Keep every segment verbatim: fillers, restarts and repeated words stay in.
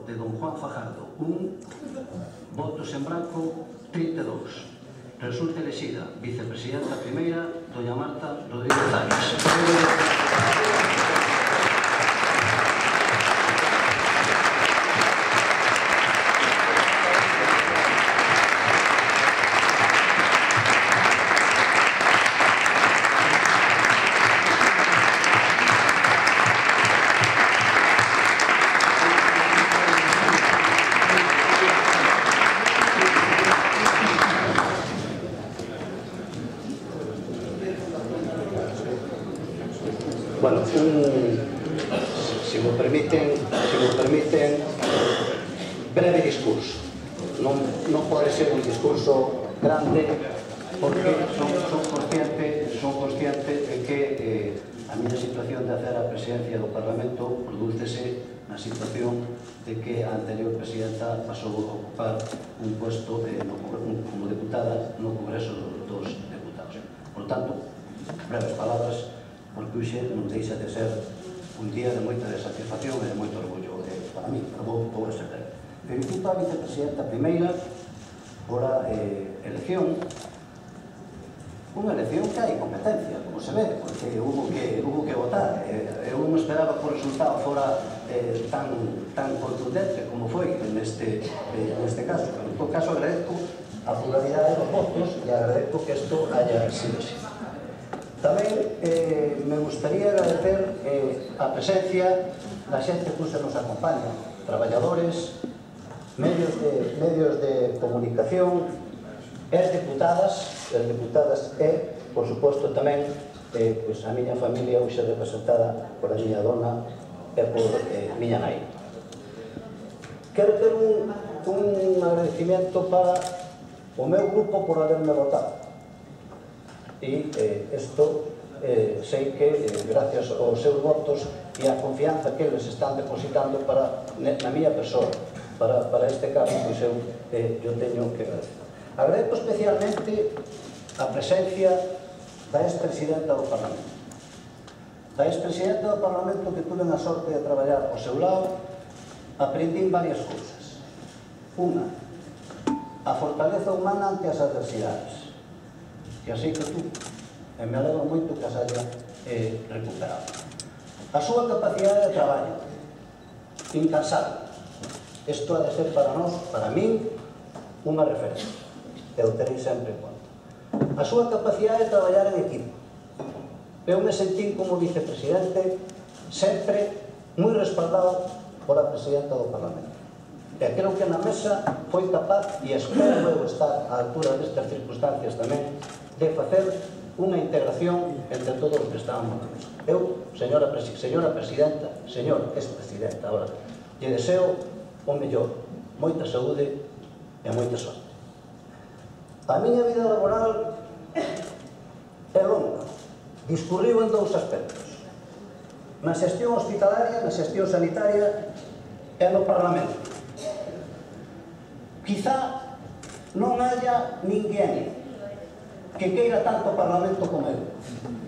de don Juan Fajardo, un. Votos en branco, trinta e dous. Resulta elexida vicepresidenta primeira, doña Marta Rodríguez Arias. Bueno, un, se me permiten, se me permiten, breve discurso. Non, non pode ser un discurso grande porque son, son consciente, son consciente de que eh, a miña situación de hacer a presidencia do Parlamento prodúcese na situación de que a anterior presidenta pasou a ocupar un puesto de, no, un, como deputada no Congreso dos Deputados. Por tanto, breves palabras, porque hoxe non deixa de ser un día de moita satisfacción e de moito orgullo eh, para mí, para vos, vou ser. Felicito a vicepresidenta primeira por a eh, elección, unha elección que hai competencia, como se ve, porque hubo que, hubo que votar. Eh, eu non esperaba que o resultado fora eh, tan, tan contundente como foi neste, eh, neste caso, pero en todo caso agradezco a pluralidade dos votos e agradezco que isto haya sido así. Tamén eh, me gustaría agradecer eh, a presencia da xente que se nos acompaña, traballadores, medios de, medios de comunicación, as deputadas, as deputadas e, por suposto, tamén eh, pues, a miña familia hoxe representada por a miña dona e por eh, miña nai. Quero ter un, un agradecimiento para o meu grupo por haberme votado. E isto eh, sei que eh, gracias aos seus votos e a confianza que eles están depositando para, na miña persoa para, para este caso, pois eu, eh, eu teño que agradecer. Agradezco especialmente a presencia da ex-presidenta do Parlamento. Da ex-presidenta do Parlamento que tuve a sorte de traballar ao seu lado, aprendín varias cousas. Unha, a fortaleza humana ante as adversidades, que así que tú, e me alegro moito que as haya eh, recuperado. A súa capacidade de traballo, incansable. Isto ha de ser para nós, para min, unha referencia, que o tenéis sempre en conta. A súa capacidade de traballar en equipo. Eu me sentí como vicepresidente sempre moi respaldado por a presidenta do Parlamento. E creo que na mesa foi capaz, e espero eu estar á altura destas circunstancias tamén, de facer unha integración entre todos os que estábamos na mesa. Eu, señora, presi señora presidenta, señor ex-presidenta, ahora, lle deseo o mellor, moita saúde e moita sorte. A miña vida laboral é longa, discurriu en dous aspectos. Na xestión hospitalaria, na xestión sanitaria e no Parlamento. Quizá non haya ninguén que queira tanto o Parlamento como eu.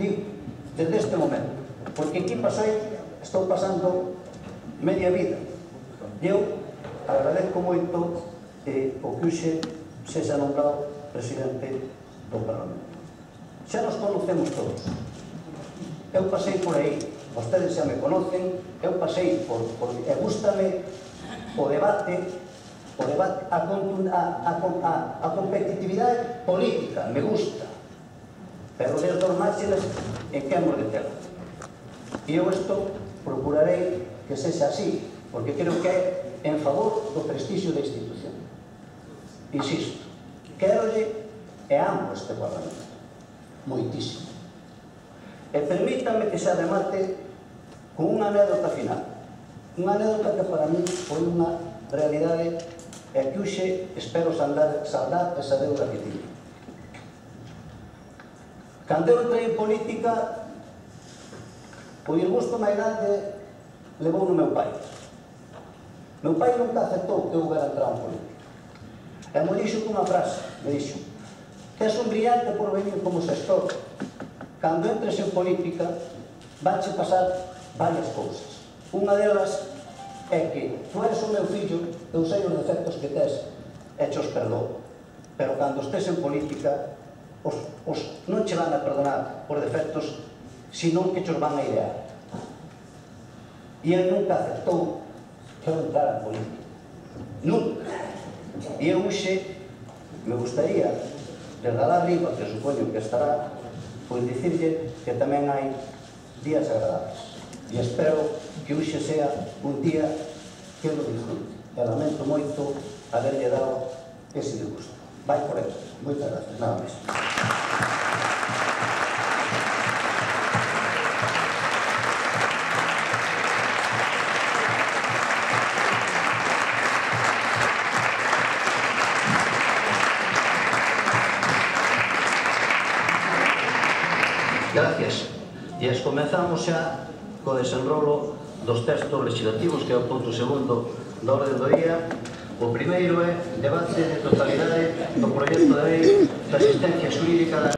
Digo, desde este momento. Porque aquí pasei, estou pasando media vida. Eu agradezco moito eh, o que hoxe sexa nombrado presidente do Parlamento. Xa nos conocemos todos. Eu pasei por aí, vostedes xa me conocen, eu pasei por, por e gústame o debate, o debate, a, a, a, a, a competitividade política, me gusta, pero desde os márgenes en que hemos de terlo. E eu isto procurarei que sexa así, porque creo que é en favor do prestixio da institución. Insisto, querolle e amo este Parlamento, moitísimo. E permítame que se remate con unha anécdota final. Unha anécdota que para mí foi unha realidade e que hoxe espero saldar, saldar esa deuda que tiña. Cando eu entrei en política, o disgusto máis grande levou no meu pai. Meu pai nunca aceptou que eu hubiera entrado en política. E me dixo cunha frase, me dixo: tes un brillante por venir como xestor. Cando entres en política, vanche pasar varias cousas. Unha delas é que tú eres o meu fillo, eu sei os defectos que tes e che os perdoo, pero cando estés en política os, os non che van a perdonar os defectos, senón que che os van a idear. E ele nunca aceptou que eu entrara en política, nunca. E eu hoxe me gustaría, desde lá arriba, que supoño que estará, pois dicirlle que tamén hai días agradables. E espero que hoxe sea un día que eu lo disfrute. E lamento moito haberlle dado ese disgusto. Vai por eso. Moitas gracias. Nada máis. Gracias. E as comenzamos xa co desenrolo dos textos legislativos, que é o punto segundo da orde do día. O primeiro é debate de totalidade do proxecto de lei da asistencia xurídica da